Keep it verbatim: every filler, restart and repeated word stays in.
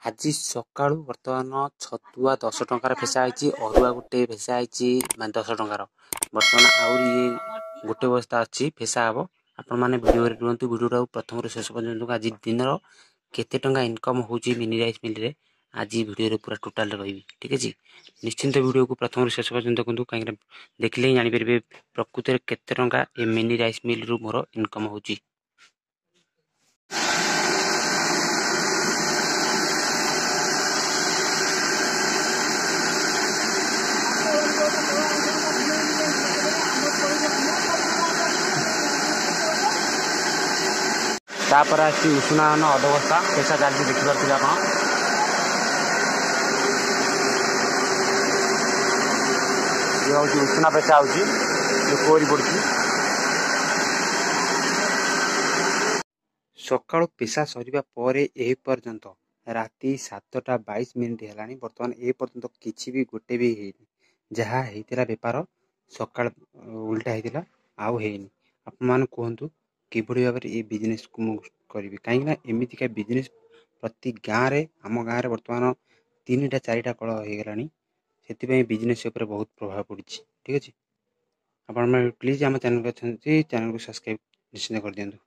ଆଜି ସକାଳୁ ବର୍ତ୍ତମାନ ଛତୁଆ ଦଶ ଟଙ୍କାର ଫେସା ହେଇଛି, ଅରୁଆ ଗୋଟେ ଫେସା ହେଇଛି, ମାନେ ଦଶ ଟଙ୍କାର। ବର୍ତ୍ତମାନ ଆହୁରି ଇଏ ଗୋଟେ ବସ୍ତା ଅଛି, ଫେସା ହେବ। ଆପଣମାନେ ଭିଡ଼ିଓରେ ରୁହନ୍ତୁ, ଭିଡ଼ିଓଟାକୁ ପ୍ରଥମରୁ ଶେଷ ପର୍ଯ୍ୟନ୍ତ। ଆଜି ଦିନର କେତେ ଟଙ୍କା ଇନକମ୍ ହେଉଛି ମିନି ରାଇସ୍ ମିଲ୍ରେ, ଆଜି ଭିଡ଼ିଓରେ ପୁରା ଟୋଟାଲରେ କହିବି, ଠିକ୍ ଅଛି? ନିଶ୍ଚିନ୍ତ ଭିଡ଼ିଓକୁ ପ୍ରଥମରୁ ଶେଷ ପର୍ଯ୍ୟନ୍ତ ଦେଖନ୍ତୁ, କାହିଁକିନା ଦେଖିଲେ ହିଁ ଜାଣିପାରିବେ ପ୍ରକୃତରେ କେତେ ଟଙ୍କା ଏ ମିନି ରାଇସ୍ ମିଲ୍ରୁ ମୋର ଇନକମ୍ ହେଉଛି। ତାପରେ ଆସିଛି ଉଷୁନା ଧାନ ଅଧ ବସ୍ତା, ପେସା ଚାଲିଛି, ଦେଖିପାରୁଥିବେ ଆପଣ। ଇଏ ହେଉଛି ଉଷୁନା ପେସା ହେଉଛି, କୋରି ପଡ଼ୁଛି। ସକାଳୁ ପେସା ସରିବା ପରେ ଏହି ପର୍ଯ୍ୟନ୍ତ ରାତି ସାତଟା ବାଇଶ ମିନିଟ୍ ହେଲାଣି, ବର୍ତ୍ତମାନ ଏ ପର୍ଯ୍ୟନ୍ତ କିଛି ବି ଗୋଟେ ବି ହେଇନି। ଯାହା ହେଇଥିଲା ବେପାର ସକାଳ ଉଲ୍ଟା ହେଇଥିଲା, ଆଉ ହେଇନି। ଆପଣମାନେ କୁହନ୍ତୁ କିଭଳି ଭାବରେ ଏ ବିଜନେସ୍କୁ ମୁଁ କରିବି? କାହିଁକିନା ଏମିତିକା ବିଜନେସ୍ ପ୍ରତି ଗାଁରେ, ଆମ ଗାଁରେ ବର୍ତ୍ତମାନ ତିନିଟା ଚାରିଟା କଳ ହେଇଗଲାଣି। ସେଥିପାଇଁ ବିଜନେସ୍ ଉପରେ ବହୁତ ପ୍ରଭାବ ପଡ଼ିଛି, ଠିକ୍ ଅଛି? ଆପଣମାନେ ପ୍ଲିଜ୍ ଆମ ଚ୍ୟାନେଲକୁ ଅଛନ୍ତି, ଚ୍ୟାନେଲକୁ ସବସ୍କ୍ରାଇବ୍ ନିଶ୍ଚିନ୍ତ କରିଦିଅନ୍ତୁ।